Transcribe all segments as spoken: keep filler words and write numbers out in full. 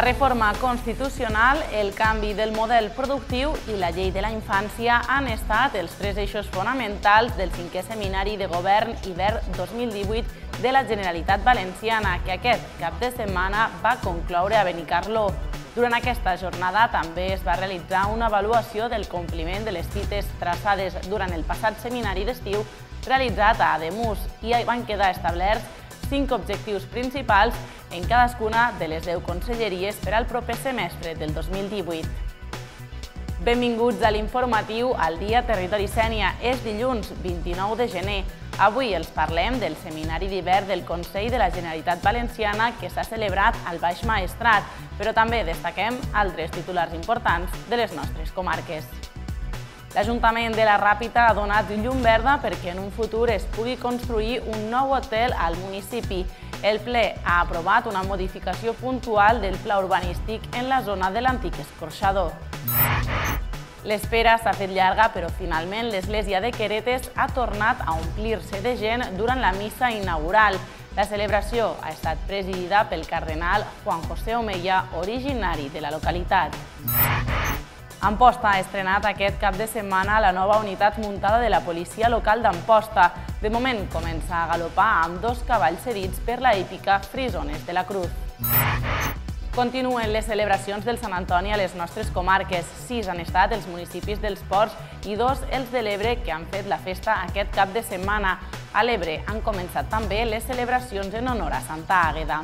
La reforma constitucional, el canvi del model productiu i la llei de la infància han estat els tres eixos fonamentals del cinquè Seminari de Govern Hivern dos mil divuit de la Generalitat Valenciana, que aquest cap de setmana va concloure a Benicarló. Durant aquesta jornada també es va realitzar una avaluació del compliment de les cites traçades durant el passat seminari d'estiu realitzat a Ademús i van quedar establerts cinc objectius principals en cadascuna de les deu conselleries per al proper semestre del dos mil divuit. Benvinguts a l'informatiu al Dia Territori Sénia. És dilluns vint-i-nou de gener. Avui els parlem del Seminari d'Hivern del Consell de la Generalitat Valenciana que s'ha celebrat al Baix Maestrat, però també destaquem altres titulars importants de les nostres comarques. L'Ajuntament de la Ràpita ha donat llum verda perquè en un futur es pugui construir un nou hotel al municipi. El ple ha aprovat una modificació puntual del pla urbanístic en la zona de l'antic escorxador. L'espera s'ha fet llarga, però finalment l'església de Queretes ha tornat a omplir-se de gent durant la missa inaugural. La celebració ha estat presidida pel cardenal Juan José Omeya, originari de la localitat. Amposta ha estrenat aquest cap de setmana la nova unitat muntada de la policia local d'Amposta. De moment comença a galopar amb dos cavalls cedits per la hípica Frisones de la Cruz. Continuen les celebracions del Sant Antoni a les nostres comarques. Sis han estat els municipis dels Ports i dos els de l'Ebre que han fet la festa aquest cap de setmana. A l'Ebre han començat també les celebracions en honor a Santa Àgueda.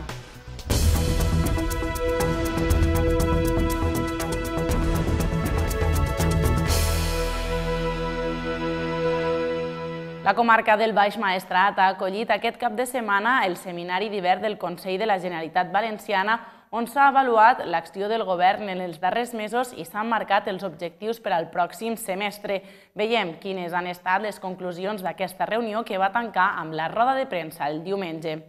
La comarca del Baix Maestrat ha acollit aquest cap de setmana el Seminari d'Hivern del Consell de la Generalitat Valenciana, on s'ha avaluat l'acció del govern en els darrers mesos i s'han marcat els objectius per al pròxim semestre. Veiem quines han estat les conclusions d'aquesta reunió que va tancar amb la roda de premsa el diumenge.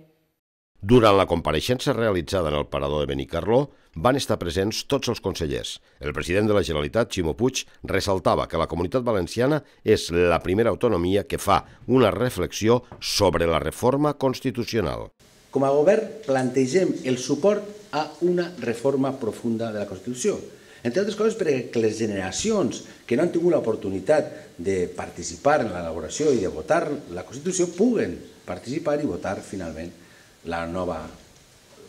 Durant la compareixença realitzada en el Parador de Benicarló van estar presents tots els consellers. El president de la Generalitat, Ximo Puig, ressaltava que la Comunitat Valenciana és la primera autonomia que fa una reflexió sobre la reforma constitucional. Com a govern plantegem el suport a una reforma profunda de la Constitució. Entre altres coses perquè les generacions que no han tingut l'oportunitat de participar en l'elaboració i de votar la Constitució puguen participar i votar finalment la nova,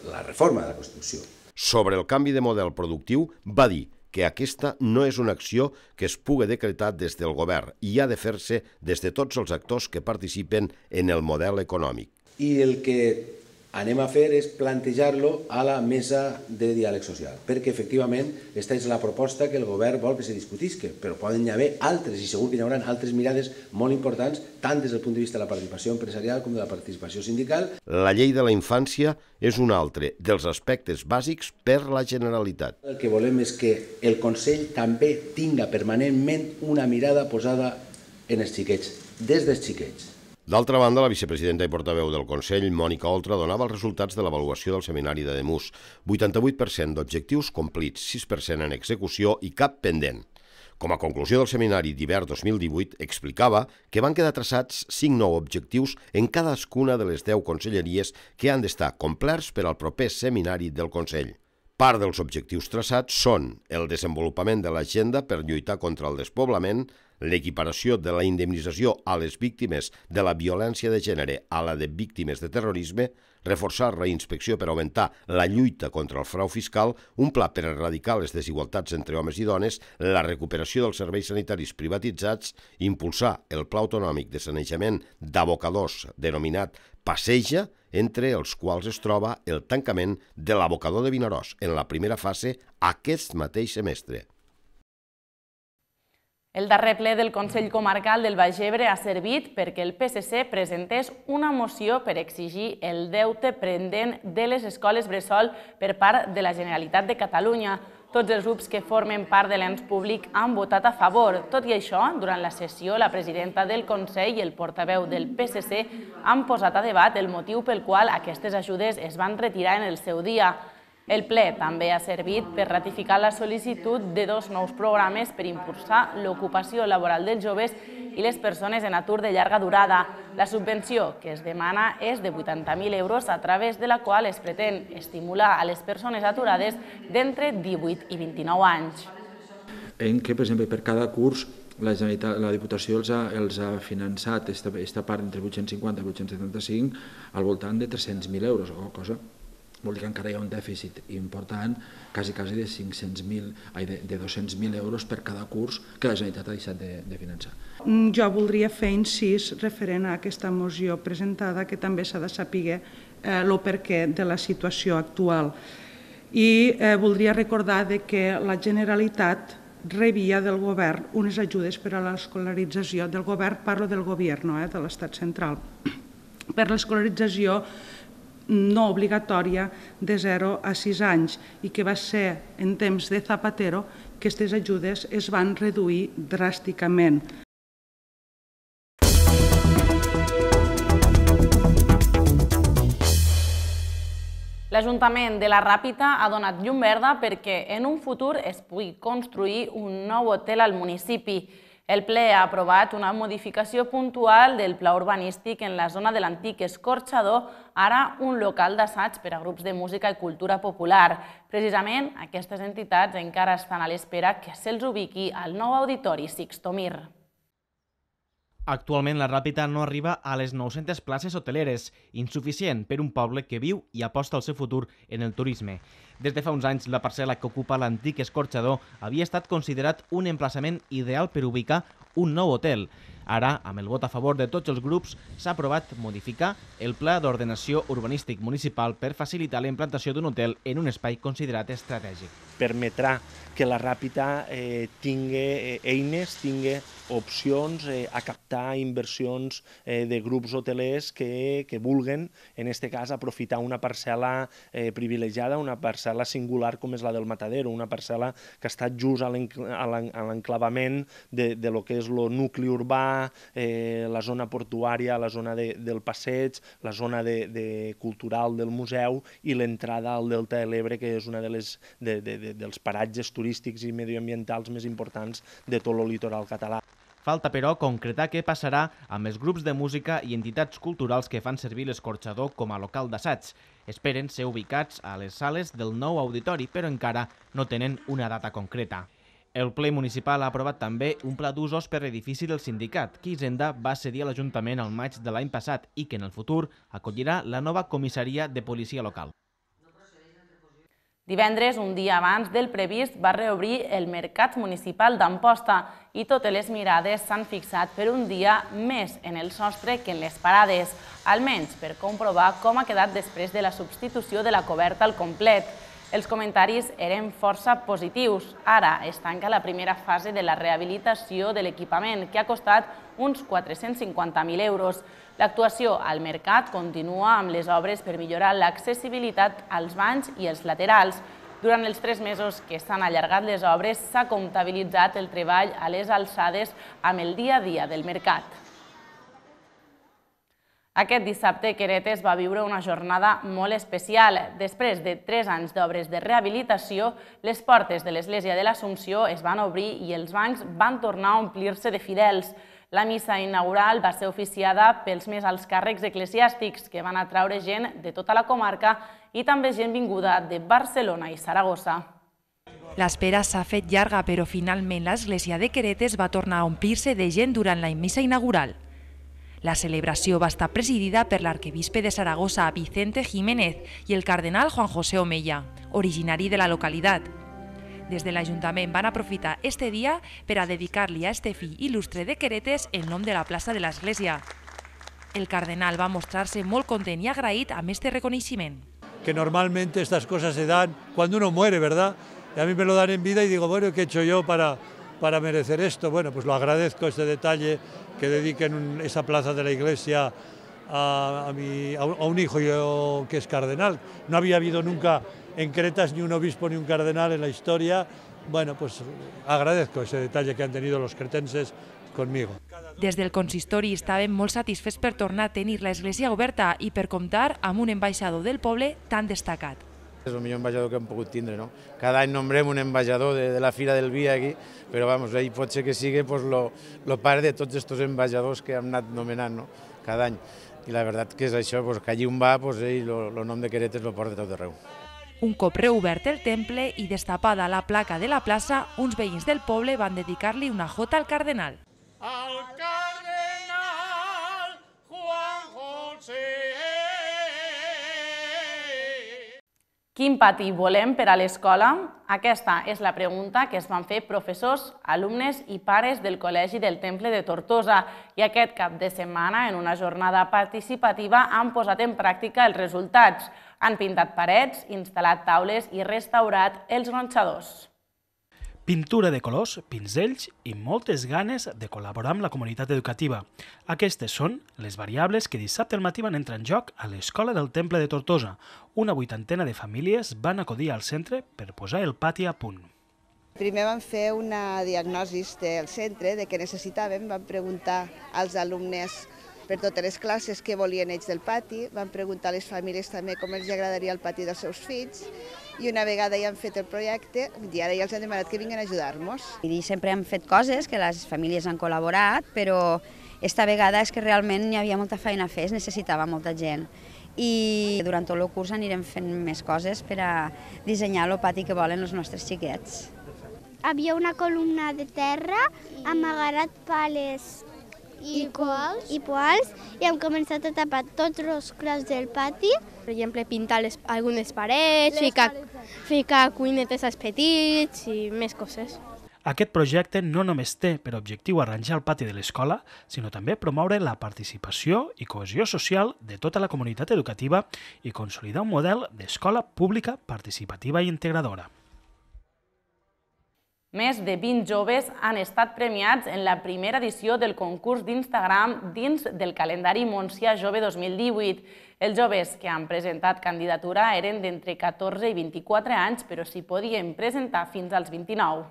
la reforma de la Constitució. Sobre el canvi de model productiu, va dir que aquesta no és una acció que es pugui decretar des del govern i ha de fer-se des de tots els actors que participen en el model econòmic. I el que anem a fer és plantejar-lo a la mesa de diàleg social, perquè efectivament aquesta és la proposta que el govern vol que se discutisca, però poden hi haver altres, i segur que hi haurà altres mirades molt importants, tant des del punt de vista de la participació empresarial com de la participació sindical. La llei de la infància és un altre dels aspectes bàsics per la Generalitat. El que volem és que el Consell també tinga permanentment una mirada posada en els xiquets, des dels xiquets. D'altra banda, la vicepresidenta i portaveu del Consell, Mònica Oltra, donava els resultats de l'avaluació del seminari d'Ademús. vuitanta-vuit per cent d'objectius complits, sis per cent en execució i cap pendent. Com a conclusió del seminari d'hivern dos mil divuit, explicava que van quedar traçats cinc nous objectius en cadascuna de les deu conselleries que han d'estar complerts per al proper seminari del Consell. Part dels objectius traçats són el desenvolupament de l'agenda per lluitar contra el despoblament, l'equiparació de la indemnització a les víctimes de la violència de gènere a la de víctimes de terrorisme, reforçar la inspecció per augmentar la lluita contra el frau fiscal, un pla per erradicar les desigualtats entre homes i dones, la recuperació dels serveis sanitaris privatitzats, impulsar el Pla Autonòmic de Sanejament d'Abocadors denominat Passeja, entre els quals es troba el tancament de l'abocador de Vinaròs en la primera fase aquest mateix semestre. El darrer ple del Consell Comarcal del Baix Ebre ha servit perquè el P S C presentés una moció per exigir el deute pendent de les escoles bressol per part de la Generalitat de Catalunya. Tots els grups que formen part de l'ens públic han votat a favor. Tot i això, durant la sessió, la presidenta del Consell i el portaveu del P S C han posat a debat el motiu pel qual aquestes ajudes es van retirar en el seu dia. El ple també ha servit per ratificar la sol·licitud de dos nous programes per impulsar l'ocupació laboral dels joves i les persones en atur de llarga durada. La subvenció que es demana és de vuitanta mil euros, a través de la qual es pretén estimular a les persones aturades d'entre divuit i vint-i-nou anys. En què, per exemple, per cada curs la, la Diputació els ha, els ha finançat aquesta part entre vuit-cents cinquanta i vuit-cents setanta-cinc al voltant de tres-cents mil euros o cosa. Vol dir que encara hi ha un dèficit important, quasi, quasi de, cinc-cents mil, de, de dos-cents mil euros per cada curs que la Generalitat ha deixat de, de finançar. Jo voldria fer incís referent a aquesta moció presentada, que també s'ha de saber el eh, perquè de la situació actual. I eh, voldria recordar de que la Generalitat rebia del govern unes ajudes per a l'escolarització del govern, parlo del govern, eh, de l'estat central, per l'escolarització no obligatòria de zero a sis anys i que va ser en temps de Zapatero que aquestes ajudes es van reduir dràsticament. L'Ajuntament de la Ràpita ha donat llum verda perquè en un futur es pugui construir un nou hotel al municipi. El ple ha aprovat una modificació puntual del pla urbanístic en la zona de l'antic escorxador, ara un local d'assaig per a grups de música i cultura popular. Precisament, aquestes entitats encara estan a l'espera que se'ls ubiqui al nou auditori Sixto Mir. Actualment la Ràpita no arriba a les nou-centes places hoteleres, insuficient per un poble que viu i aposta el seu futur en el turisme. Des de fa uns anys, la parcel·la que ocupa l'antic escorxador havia estat considerat un emplaçament ideal per ubicar un nou hotel. Ara, amb el vot a favor de tots els grups, s'ha aprovat modificar el Pla d'Ordenació Urbanístic Municipal per facilitar la implantació d'un hotel en un espai considerat estratègic. Permetrà que la Ràpita eh, tingui eh, eines, tingui opcions eh, a captar inversions eh, de grups hotelers que, que vulguen, en aquest cas, aprofitar una parcel·la eh, privilegiada, una parcel·la singular com és la del Matadero, una parcel·la que està just a l'enclavament de, de lo que és el nucli urbà, eh, la zona portuària, la zona de, del passeig, la zona de, de cultural del museu i l'entrada al Delta de l'Ebre, que és una de les, de, de, de, dels paratges turístics i medioambientals més importants de tot el litoral català. Falta, però, concretar què passarà amb els grups de música i entitats culturals que fan servir l'escorxador com a local d'assaig. Esperen ser ubicats a les sales del nou auditori, però encara no tenen una data concreta. El ple municipal ha aprovat també un pla d'usos per l'edifici del sindicat, que Hisenda va cedir a l'Ajuntament al maig de l'any passat i que en el futur acollirà la nova comissaria de policia local. Divendres, un dia abans del previst, va reobrir el Mercat Municipal d'Amposta i totes les mirades s'han fixat per un dia més en el sostre que en les parades, almenys per comprovar com ha quedat després de la substitució de la coberta al complet. Els comentaris eren força positius. Ara es tanca la primera fase de la rehabilitació de l'equipament, que ha costat uns quatre-cents cinquanta mil euros. L'actuació al mercat continua amb les obres per millorar l'accessibilitat als banys i els laterals. Durant els tres mesos que s'han allargat les obres, s'ha comptabilitzat el treball a les alçades amb el dia a dia del mercat. Aquest dissabte, Queretes va viure una jornada molt especial. Després de tres anys d'obres de rehabilitació, les portes de l'Església de l'Assumpció es van obrir i els bancs van tornar a omplir-se de fidels. La missa inaugural va ser oficiada pels més alts càrrecs eclesiàstics, que van atraure gent de tota la comarca i també gent vinguda de Barcelona i Saragossa. L'espera s'ha fet llarga, però finalment l'Església de Queretes va tornar a omplir-se de gent durant la missa inaugural. La celebració va estar presidida per l'arquebisbe de Saragossa, Vicente Jiménez, i el cardenal Juan José Omeya, originari de la localitat. Des de l'Ajuntament van aprofitar este dia per a dedicar-li a este fill il·lustre de Queretes el nom de la plaça de l'Església. El cardenal va mostrar-se molt content i agraït amb este reconeixement. Que normalmente estas cosas se dan cuando uno muere, ¿verdad? Y a mí me lo dan en vida y digo, bueno, ¿qué he hecho yo para, para merecer esto? Bueno, pues lo agradezco, este detalle, que dediquen esa plaza de la iglesia a, a, mi, a un hijo yo, que es cardenal. No había habido nunca en Queretas ni un obispo ni un cardenal en la historia. Bueno, pues agradezco ese detalle que han tenido los cretenses conmigo. Des del consistori estaven molt satisfets per tornar a tenir l'església oberta i per comptar amb un ambaixador del poble tan destacat. És el millor ambaixador que hem pogut tindre, no? Cada any nombrem un ambaixador de, de la Fira del Vi aquí, però vamos, ell pot ser que sigui pues, lo, lo pare de tots aquests ambaixadors que hem anat nomenant, no? Cada any. I la veritat que és això, pues, que allí on va, pues, ell el nom de Queretes lo porta tot arreu. Un cop reobert el temple i destapada la placa de la plaça, uns veïns del poble van dedicar-li una jota al cardenal. Al cardenal Juan José. Quin pati volem per a l'escola? Aquesta és la pregunta que es van fer professors, alumnes i pares del Col·legi del Temple de Tortosa i aquest cap de setmana, en una jornada participativa, han posat en pràctica els resultats. Han pintat parets, instal·lat taules i restaurat els gronxadors. Pintura de colors, pinzells i moltes ganes de col·laborar amb la comunitat educativa. Aquestes són les variables que dissabte al matí van entrar en joc a l'Escola del Temple de Tortosa. Una vuitantena de famílies van acudir al centre per posar el pati a punt. Primer vam fer una diagnosi del centre de què necessitàvem, vam preguntar als alumnes per totes les classes què volien ells del pati, vam preguntar a les famílies també com els agradaria el pati dels seus fills i una vegada ja han fet el projecte i ara ja els han demanat que vinguin a ajudar-nos. I sempre hem fet coses que les famílies han col·laborat, però esta vegada és que realment hi havia molta feina a fer, es necessitava molta gent. I durant tot el curs anirem fent més coses per a dissenyar el pati que volen els nostres xiquets. Havia una columna de terra amagarat pales i poals, i poals i hem començat a tapar tots els clars del pati. Per exemple, pintar les, algunes parets, ficar, ficar cuinetes als petits i més coses. Aquest projecte no només té per objectiu arranjar el pati de l'escola, sinó també promoure la participació i cohesió social de tota la comunitat educativa i consolidar un model d'escola pública, participativa i integradora. Més de vint joves han estat premiats en la primera edició del concurs d'Instagram dins del calendari Montsià Jove dos mil divuit. Els joves que han presentat candidatura eren d'entre catorze i vint-i-quatre anys, però s'hi podien presentar fins als vint-i-nou.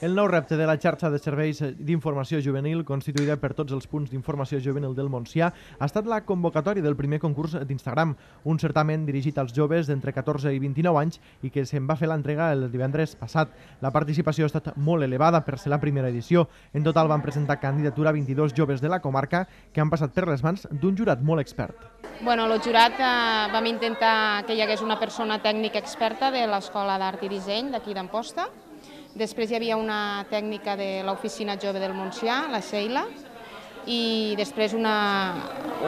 El nou repte de la xarxa de serveis d'informació juvenil, constituïda per tots els punts d'informació juvenil del Montsià, ha estat la convocatòria del primer concurs d'Instagram, un certamen dirigit als joves d'entre catorze i vint-i-nou anys i que se'n va fer l'entrega el divendres passat. La participació ha estat molt elevada per ser la primera edició. En total van presentar candidatura vint-i-dos joves de la comarca que han passat per les mans d'un jurat molt expert. Bueno, el jurat eh, vam intentar que hi hagués una persona tècnica experta de l'Escola d'Art i Disseny d'aquí d'Amposta. Després hi havia una tècnica de l'Oficina Jove del Montsià, la Sheila, i després una,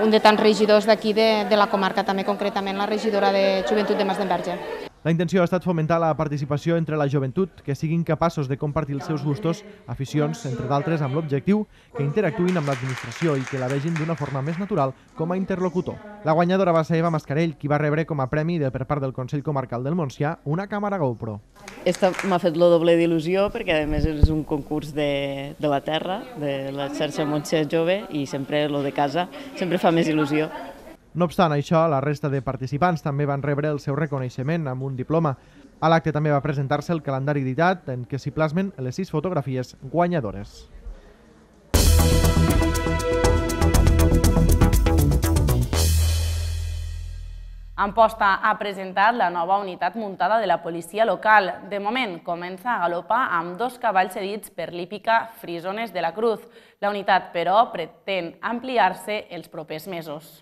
un de tants regidors d'aquí de, de la comarca, també concretament la regidora de Joventut de Mas d'Enverge. La intenció ha estat fomentar la participació entre la joventut, que siguin capaços de compartir els seus gustos, aficions, entre d'altres, amb l'objectiu que interactuïn amb l'administració i que la vegin d'una forma més natural com a interlocutor. La guanyadora va ser Eva Mascarell, qui va rebre com a premi de per part del Consell Comarcal del Montsià una càmera GoPro. Esta m'ha fet lo doble d'il·lusió perquè a més és un concurs de, de la terra, de la xarxa Montsià Jove, i sempre lo de casa sempre fa més il·lusió. No obstant això, la resta de participants també van rebre el seu reconeixement amb un diploma. A l'acte també va presentar-se el calendari editat en què s'hi plasmen les sis fotografies guanyadores. Amposta ha presentat la nova unitat muntada de la policia local. De moment, comença a galopar amb dos cavalls cedits per l'hípica Frisones de la Cruz. La unitat, però, pretén ampliar-se els propers mesos.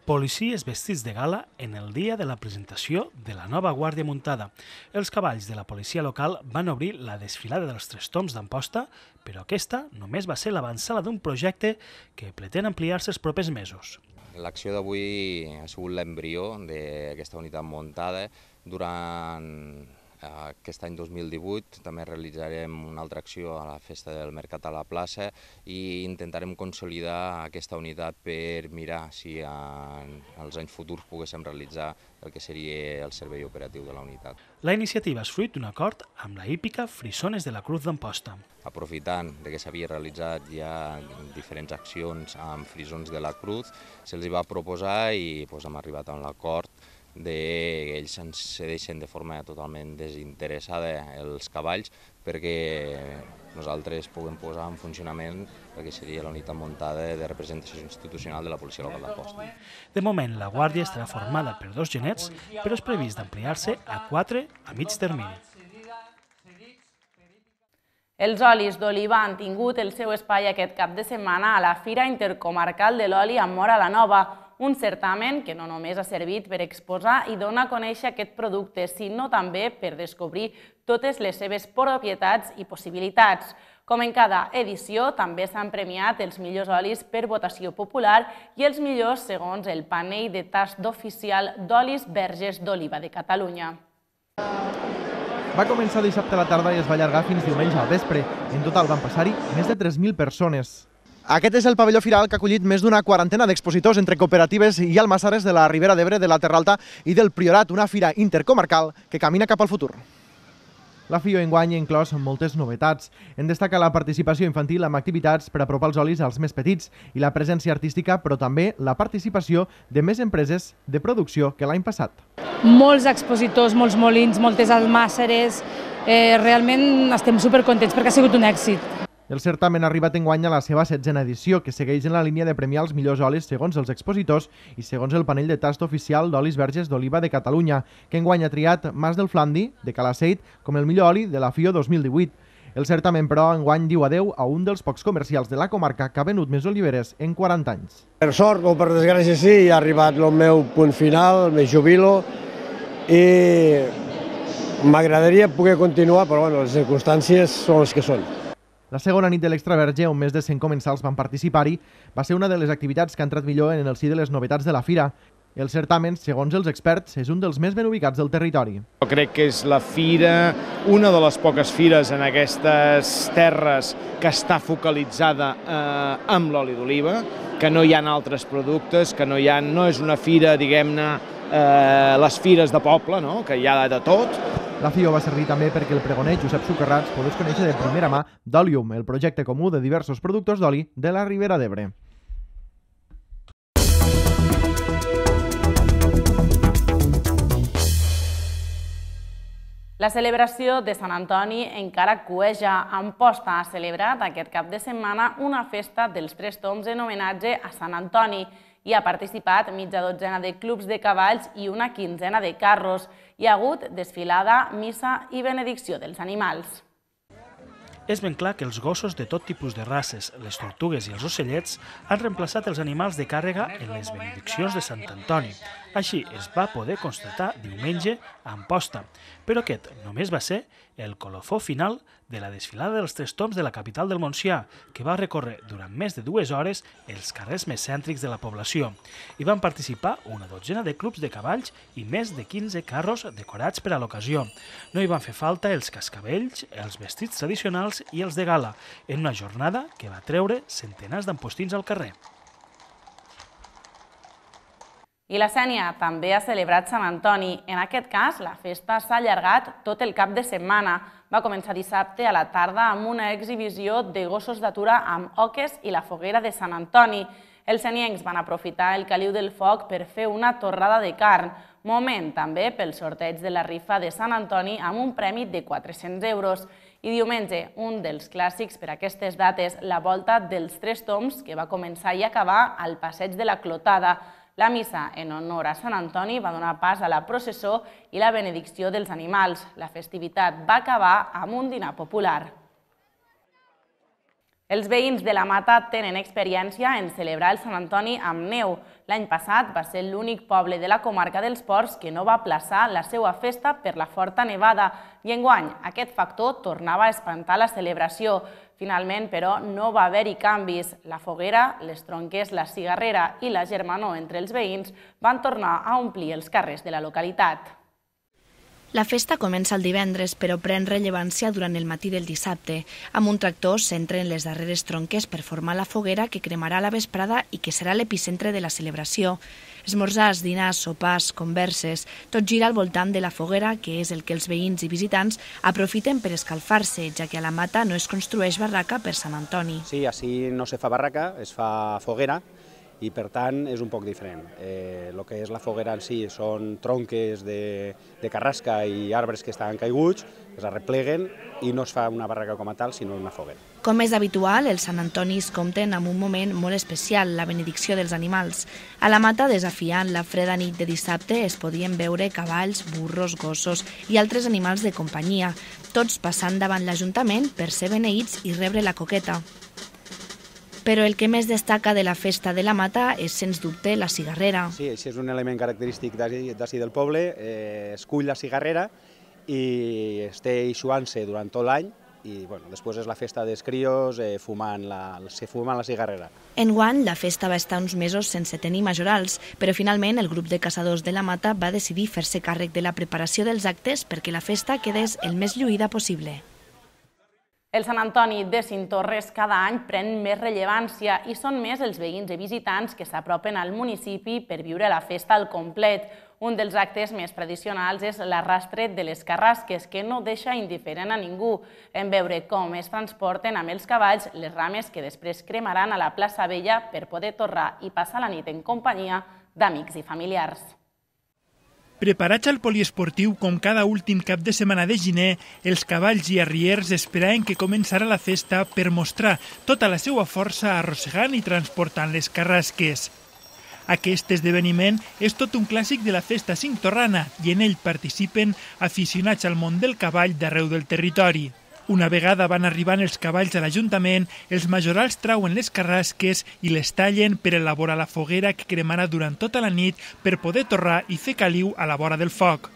Policies vestits de gala en el dia de la presentació de la nova Guàrdia Muntada. Els cavalls de la policia local van obrir la desfilada dels Tres Tombs d'Amposta, però aquesta només va ser l'avançada d'un projecte que pretén ampliar-se els propers mesos. L'acció d'avui ha sigut l'embrió d'aquesta unitat muntada. Durant aquest any dos mil divuit també realitzarem una altra acció a la Festa del Mercat a la plaça i intentarem consolidar aquesta unitat per mirar si en els anys futurs poguéssim realitzar el que seria el servei operatiu de la unitat. La iniciativa és fruit d'un acord amb la hípica Frisones de la Cruz d'Amposta. Aprofitant que s'havia realitzat ja diferents accions amb Frisons de la Cruz, se'ls va proposar i hem arribat a un acord d'ells ens cedeixen de forma totalment desinteressada els cavalls perquè nosaltres puguem posar en funcionament el que seria la unitat muntada de representació institucional de la policia local d'Amposta. De moment, la guàrdia estarà formada per dos genets, però és previst d'ampliar-se a quatre a mig termini. Els olis d'oliva han tingut el seu espai aquest cap de setmana a la Fira Intercomarcal de l'Oli a Móra la Nova, un certamen que no només ha servit per exposar i donar a conèixer aquest producte, sinó també per descobrir totes les seves propietats i possibilitats. Com en cada edició, també s'han premiat els millors olis per votació popular i els millors segons el panell de tast oficial d'olis verges d'oliva de Catalunya. Va començar dissabte a la tarda i es va allargar fins diumenge al vespre. En total van passar-hi més de tres mil persones. Aquest és el pavelló firal que ha acollit més d'una quarantena d'expositors entre cooperatives i almassares de la Ribera d'Ebre, de la Terra Alta i del Priorat, una fira intercomarcal que camina cap al futur. La FIO enguany ha inclòs moltes novetats. En destaca la participació infantil amb activitats per apropar els olis als més petits i la presència artística, però també la participació de més empreses de producció que l'any passat. Molts expositors, molts molins, moltes almàsseres, eh, realment estem supercontents perquè ha sigut un èxit. El certamen ha arribat enguany a la seva setzena edició, que segueix en la línia de premiar els millors olis segons els expositors i segons el panell de tast oficial d'olis verges d'oliva de Catalunya, que enguany ha triat Mas del Flandi, de Calaceit, com el millor oli de la FIO dos mil divuit. El certamen, però, enguany diu adeu a un dels pocs comercials de la comarca que ha venut més oliveres en quaranta anys. Per sort o per desgràcia sí, ha arribat el meu punt final, me jubilo, i m'agradaria poder continuar, però bueno, les circumstàncies són les que són. La segona nit de l'Extraverge, on més de cent comensals van participar-hi, va ser una de les activitats que ha entrat millor en el si de les novetats de la fira. El certamen, segons els experts, és un dels més ben ubicats del territori. Jo crec que és la fira, una de les poques fires en aquestes terres que està focalitzada eh, amb l'oli d'oliva, que no hi ha altres productes, que no, hi ha, no és una fira, diguem-ne, eh, les fires de poble, no? Que hi ha de tot. La FIO va servir també perquè el pregoner Josep Socarrats pogués conèixer de primera mà d'Olium, el projecte comú de diversos productors d'oli de la Ribera d'Ebre. La celebració de Sant Antoni encara cueja. Amposta ha celebrat aquest cap de setmana una festa dels tres tombs en homenatge a Sant Antoni. Hi ha participat mitja dotzena de clubs de cavalls i una quinzena de carros. Hi ha hagut desfilada, missa i benedicció dels animals. És ben clar que els gossos de tot tipus de races, les tortugues i els ocellets, han reemplaçat els animals de càrrega en les benediccions de Sant Antoni. Així es va poder constatar diumenge a Amposta. Però aquest només va ser el colofó final de la desfilada dels tres tombs de la capital del Montsià, que va recórrer durant més de dues hores els carrers més cèntrics de la població. Hi van participar una dotzena de clubs de cavalls i més de quinze carros decorats per a l'ocasió. No hi van fer falta els cascabells, els vestits tradicionals i els de gala, en una jornada que va treure centenars d'ampostins al carrer. I la Sénia també ha celebrat Sant Antoni. En aquest cas, la festa s'ha allargat tot el cap de setmana. Va començar dissabte a la tarda amb una exhibició de gossos d'atura amb oques i la foguera de Sant Antoni. Els seniencs van aprofitar el caliu del foc per fer una torrada de carn, moment també pel sorteig de la rifa de Sant Antoni amb un premi de quatre-cents euros. I diumenge, un dels clàssics per aquestes dates, la volta dels tres tombs, que va començar i acabar al passeig de la Clotada. La missa en honor a Sant Antoni va donar pas a la processó i la benedicció dels animals. La festivitat va acabar amb un dinar popular. Els veïns de la Mata tenen experiència en celebrar el Sant Antoni amb neu. L'any passat va ser l'únic poble de la comarca dels Ports que no va aplaçar la seva festa per la forta nevada i enguany aquest factor tornava a espantar la celebració. Finalment, però, no va haver-hi canvis. La foguera, les tronques, la cigarrera i la germanor entre els veïns van tornar a omplir els carrers de la localitat. La festa comença el divendres, però pren rellevància durant el matí del dissabte. Amb un tractor s'entren les darreres tronques per formar la foguera que cremarà a la vesprada i que serà l'epicentre de la celebració. Esmorzars, dinars, sopars, converses, tot gira al voltant de la foguera, que és el que els veïns i visitants aprofiten per escalfar-se, ja que a la Mata no es construeix barraca per Sant Antoni. Sí, així no se fa barraca, es fa foguera, i per tant és un poc diferent. El que és la foguera en si són tronques de carrasca i arbres que estan caiguts, es arrepleguen i no es fa una barraca com a tal, sinó una foguera. Com és habitual, els Sant Antonis compten amb un moment molt especial, la benedicció dels animals. A la mata, desafiant la freda nit de dissabte, es podien veure cavalls, burros, gossos i altres animals de companyia, tots passant davant l'Ajuntament per ser beneïts i rebre la coqueta. Però el que més destaca de la festa de la Mata és, sens dubte, la cigarrera. Sí, això és un element característic d'ací del poble. Es cull la cigarrera i es té eixuant-se durant tot l'any i bueno, després és la festa dels crios fumant la, se fumant la cigarrera. Enguany, la festa va estar uns mesos sense tenir majorals, però finalment el grup de caçadors de la Mata va decidir fer-se càrrec de la preparació dels actes perquè la festa quedés el més lluïda possible. El Sant Antoni de Cinctorres cada any pren més rellevància i són més els veïns i visitants que s'apropen al municipi per viure la festa al complet. Un dels actes més tradicionals és l'arrastre de les carrasques, que no deixa indiferent a ningú en veure com es transporten amb els cavalls les rames que després cremaran a la plaça Vella per poder torrar i passar la nit en companyia d'amics i familiars. Preparats al poliesportiu com cada últim cap de setmana de gener, els cavalls i arriers esperaven que començara la festa per mostrar tota la seva força arrossegant i transportant les carrasques. Aquest esdeveniment és tot un clàssic de la festa cinctorrana i en ell participen aficionats al món del cavall d'arreu del territori. Una vegada van arribant els cavalls a l'Ajuntament, els majorals trauen les carrasques i les tallen per elaborar la foguera que cremarà durant tota la nit per poder torrar i fer caliu a la vora del foc.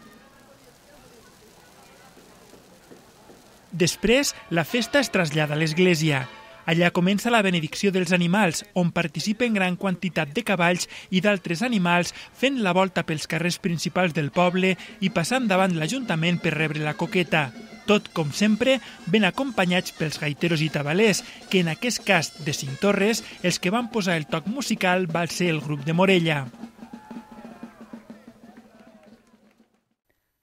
Després, la festa es trasllada a l'església. Allà comença la benedicció dels animals, on participen gran quantitat de cavalls i d'altres animals fent la volta pels carrers principals del poble i passant davant l'Ajuntament per rebre la coqueta. Tot, com sempre, ben acompanyats pels gaiteros i tabalers, que en aquest cas de Cinctorres, els que van posar el toc musical va ser el grup de Morella.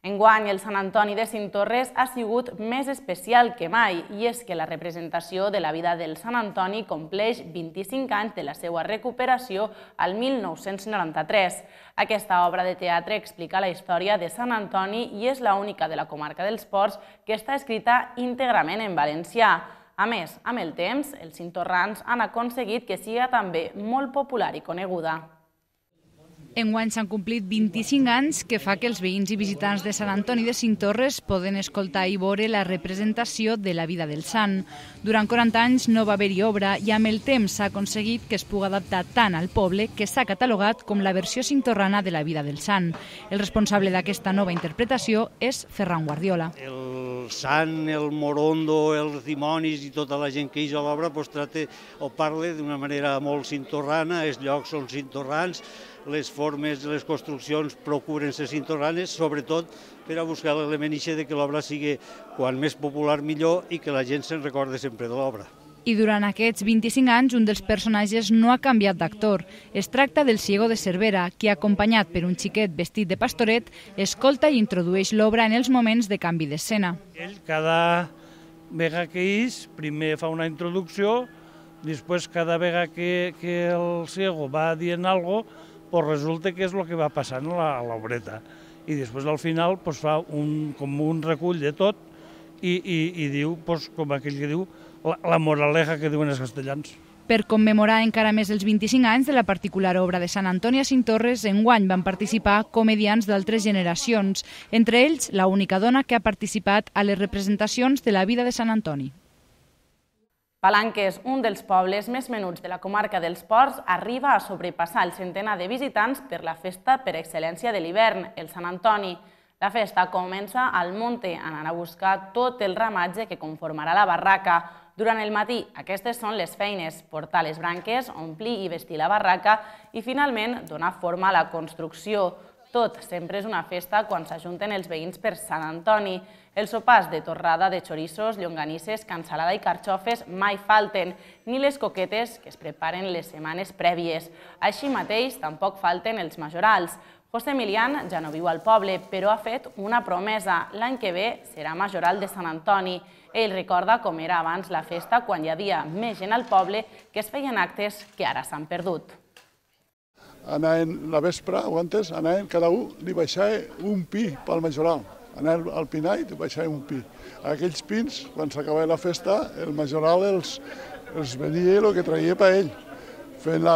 Enguany, el Sant Antoni de Cinctorres ha sigut més especial que mai, i és que la representació de la vida del Sant Antoni compleix vint-i-cinc anys de la seva recuperació al mil nou-cents noranta-tres. Aquesta obra de teatre explica la història de Sant Antoni i és l'única de la comarca dels Ports que està escrita íntegrament en valencià. A més, amb el temps, els cintorrans han aconseguit que siga també molt popular i coneguda. Enguany s'han complit vint-i-cinc anys, que fa que els veïns i visitants de Sant Antoni de Cinctorres poden escoltar i veure la representació de la vida del sant. Durant quaranta anys no va haver-hi obra i amb el temps s'ha aconseguit que es pugui adaptar tant al poble que s'ha catalogat com la versió cintorrana de la vida del sant. El responsable d'aquesta nova interpretació és Ferran Guardiola. El sant, el morondo, els dimonis i tota la gent que hi ha a l'obra tracta o parla d'una manera molt cintorrana, els llocs són cintorrans, les formes de les construccions procuren ser cintorranes, sobretot per a buscar l'element ixe de que l'obra sigui quan més popular millor i que la gent se'n recorde sempre de l'obra. I durant aquests vint-i-cinc anys, un dels personatges no ha canviat d'actor. Es tracta del Ciego de Cervera, qui, acompanyat per un xiquet vestit de pastoret, escolta i introdueix l'obra en els moments de canvi d'escena. Ell, cada vegada que és, primer fa una introducció, després cada vegada que, que el Ciego va dient alguna cosa, pues resulta que és el que va passant a l'obreta. I després al final pues, fa un, com un recull de tot i, i, i diu, pues, com aquell que diu, la, la moraleja que diuen els castellans. Per commemorar encara més els vint-i-cinc anys de la particular obra de Sant Antoni a Cinctorres, enguany van participar comediants d'altres generacions, entre ells la única dona que ha participat a les representacions de la vida de Sant Antoni. Palanques, un dels pobles més menuts de la comarca dels Ports, arriba a sobrepassar el centenar de visitants per la festa per excel·lència de l'hivern, el Sant Antoni. La festa comença al monte, anant a buscar tot el ramatge que conformarà la barraca. Durant el matí, aquestes són les feines: portar les branques, omplir i vestir la barraca i, finalment, donar forma a la construcció. Tot sempre és una festa quan s'ajunten els veïns per Sant Antoni. Els sopars de torrada de xorissos, llonganisses, cansalada i carxofes mai falten, ni les coquetes que es preparen les setmanes prèvies. Així mateix, tampoc falten els majorals. José Emilián ja no viu al poble, però ha fet una promesa. L'any que ve serà majoral de Sant Antoni. Ell recorda com era abans la festa, quan hi havia més gent al poble, que es feien actes que ara s'han perdut. anaven la vespre, o antes, anaven cada un, li baixava un pi pel majoral. Anaven al pinar i li baixava un pi. Aquells pins, quan s'acabava la festa, el majoral els, els venia el que traia per ell. Fent la,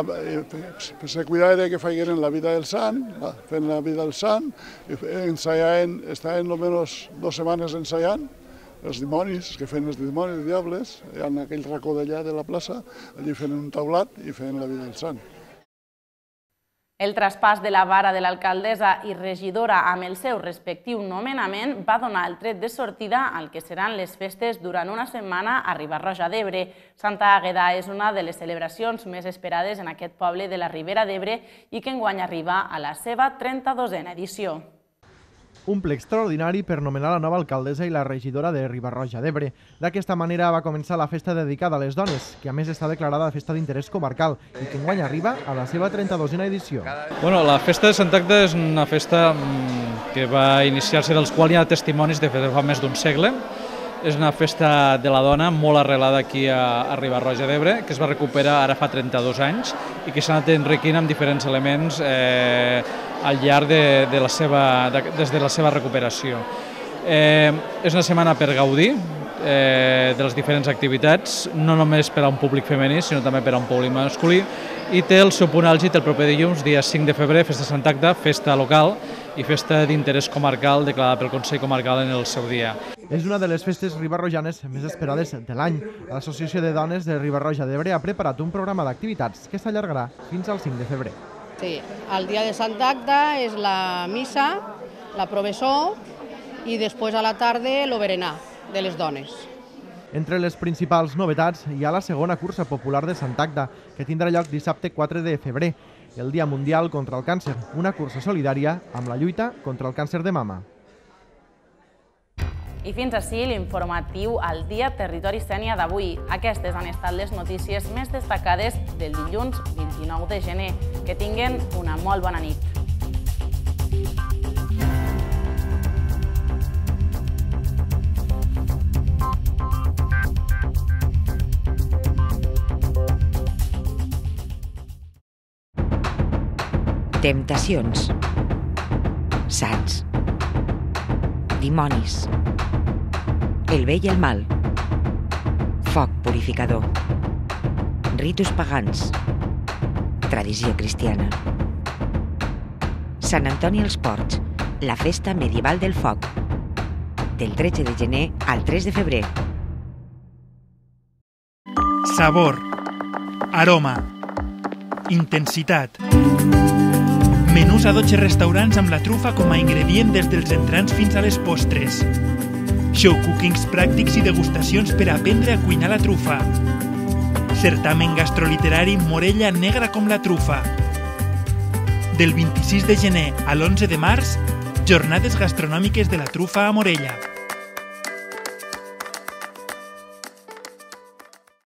se cuidava que feien la vida del sant, fent la vida del sant, ensajaven, estaven almenys dues setmanes ensaiant, els dimonis, que feien els dimonis i diables, en aquell racó d'allà de la plaça, allí feien un taulat i feien la vida del sant. El traspàs de la vara de l'alcaldessa i regidora amb el seu respectiu nomenament va donar el tret de sortida al que seran les festes durant una setmana a Riba-roja d'Ebre. Santa Àgueda és una de les celebracions més esperades en aquest poble de la Ribera d'Ebre i que enguany arriba a la seva trenta-dosena edició. Un ple extraordinari per nomenar la nova alcaldessa i la regidora de Riba-roja d'Ebre. D'aquesta manera va començar la festa dedicada a les dones, que a més està declarada festa d'interès comarcal i que enguany arriba a la seva trenta-dosena edició. Bueno, la festa de Sant Agda és una festa que va iniciar-se dels quals hi ha testimonis de fa més d'un segle. És una festa de la dona molt arrelada aquí a Riba-roja d'Ebre, que es va recuperar ara fa trenta-dos anys i que s'ha anat enriquint amb diferents elements eh, al llarg de, de la seva, de, des de la seva recuperació. Eh, és una setmana per gaudir eh, de les diferents activitats, no només per a un públic femení, sinó també per a un públic masculí, i té el seu punt àlgid el proper dilluns, dia cinc de febrer, festa de Sant Agda, festa local i festa d'interès comarcal declarada pel Consell Comarcal en el seu dia. És una de les festes ribarrojanes més esperades de l'any. L'Associació de Dones de Riba-roja d'Ebre ha preparat un programa d'activitats que s'allargarà fins al cinc de febrer. Sí, el dia de Sant Agda és la missa, la provessó i després a la tarda el berenar de les dones. Entre les principals novetats hi ha la segona cursa popular de Sant Agda, que tindrà lloc dissabte quatre de febrer, el Dia Mundial contra el Càncer, una cursa solidària amb la lluita contra el càncer de mama. I fins ací l'informatiu al Dia Territori Sénia d'avui. Aquestes han estat les notícies més destacades del dilluns vint-i-nou de gener. Que tinguen una molt bona nit. Temptacions. Sants. Dimonis. El bé i el mal. Foc purificador. Ritus pagans. Tradició cristiana. Sant Antoni als Ports, la festa medieval del foc. Del tretze de gener al tres de febrer. Sabor. Aroma. Intensitat. Menús a dotze restaurants amb la trufa com a ingredient des dels entrants fins a les postres. Show cookings pràctics i degustacions per aprendre a cuinar la trufa. Certamen gastroliterari Morella negra com la trufa. Del vint-i-sis de gener a l'onze de març, jornades gastronòmiques de la trufa a Morella.